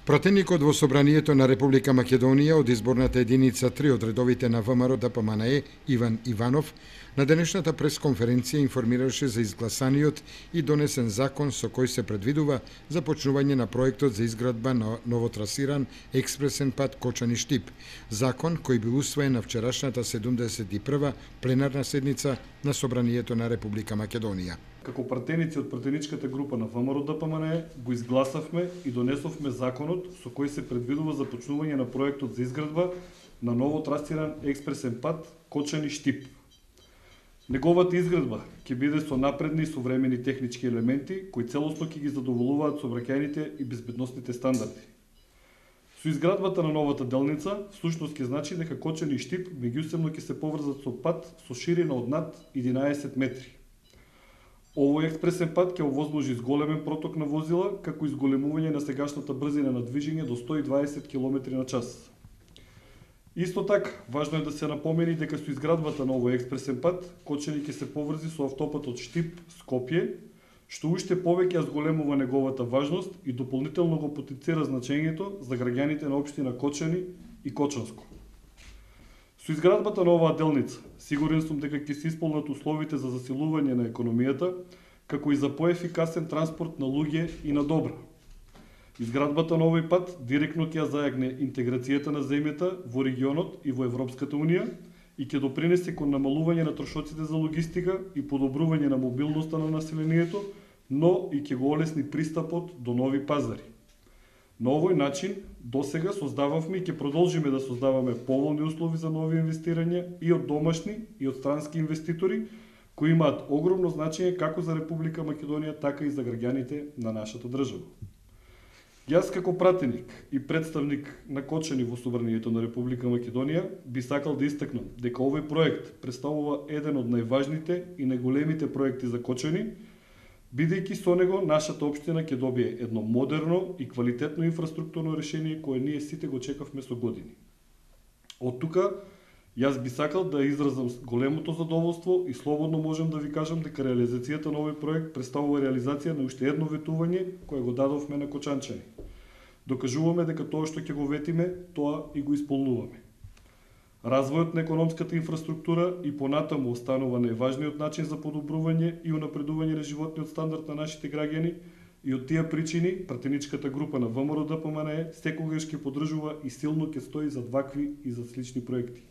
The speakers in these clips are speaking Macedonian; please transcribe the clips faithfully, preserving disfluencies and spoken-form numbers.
Пратеникот во Собранието на Република Македонија од изборната единица три од редовите на ВМРО Д П М Н Е Иван Иванов на денешната пресконференција информираше за изгласаниот и донесен закон со кој се предвидува започнување на проектот за изградба на новотрасиран експресен пат Кочани-Штип, закон кој бил усвоен на вчерашната седумдесет и прва пленарна седница на Собранието на Република Македонија. Како пратеници од пратеничката група на ВМРО Д П М Н Е го изгласавме и донесовме законот со кој се предвидува започнување на проектот за изградба на ново трасиран експресен пат Кочани-Штип. Неговата изградба ќе биде со напредни и современи технички елементи кои целосно ќе ги задоволуваат сообраќајните и безбедносните стандарди. Со изградбата на новата делница, всушност ќе значи дека Кочани и Штип меѓусебно ќе се поврзат со пат со ширина од над единаесет метри. Овој експресен пат ќе овозможи зголемен проток на возила, како и зголемување на сегашната брзина на движење до сто и дваесет километри на час. Исто така, важно е да се напомени дека со изградбата на овој експресен пат, Кочани ќе се поврзи со автопатот Штип-Скопје, што уште повеќе ја зголемува неговата важност и дополнително го потенцира значењето за граѓаните на општина Кочани и Кочанско. Со изградбата на оваа делница, сигурен сум дека ќе се исполнат условите за засилување на економијата, како и за поефикасен транспорт на луѓе и на добра. Изградбата на овој пат директно ќе ја зајагне интеграцијата на земјата во регионот и во Европската унија и ќе допринесе кон намалување на трошоците за логистика и подобрување на мобилноста на населението, но и ќе го олесни пристапот до нови пазари. На овој начин, досега создававме и ќе продолжиме да создаваме поволни услови за нови инвестирања и од домашни и од странски инвеститори, кои имаат огромно значење како за Република Македонија, така и за граѓаните на нашата држава. Јас како пратеник и представник на Кочани во Собранието на Република Македонија би сакал да истакнам дека овој проект представува еден од најважните и најголемите проекти за Кочани, бидејќи со него нашата општина ќе добие едно модерно и квалитетно инфраструктурно решение кое ние сите го чекавме со години. Од тука, јас би сакал да изразам големото задоволство и слободно можам да ви кажам дека реализацијата на овој проект представува реализација на уште едно ветување кое го дадовме на кочанчани. Докажуваме дека тоа што ќе го ветиме, тоа и го исполнуваме. Развојот на економската инфраструктура и понатаму останува најважниот начин за подобрување и унапредување на животниот стандард на нашите граѓани и од тие причини пратеничката група на ВМРО Д П М Н Е секогаш ќе поддржува и силно ќе стои за вакви и за слични проекти.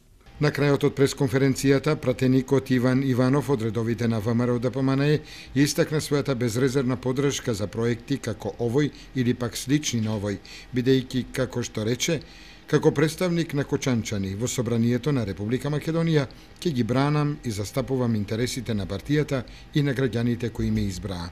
На крајот од пресконференцијата, пратеникот Иван Иванов од редовите на ВМРО Д П М Н Е истакна својата безрезервна поддршка за проекти како овој или пак слични на овој, бидејќи, како што рече, како представник на кочанчани во Собранието на Република Македонија, ќе ги бранам и застапувам интересите на партијата и на граѓаните кои ме избраа.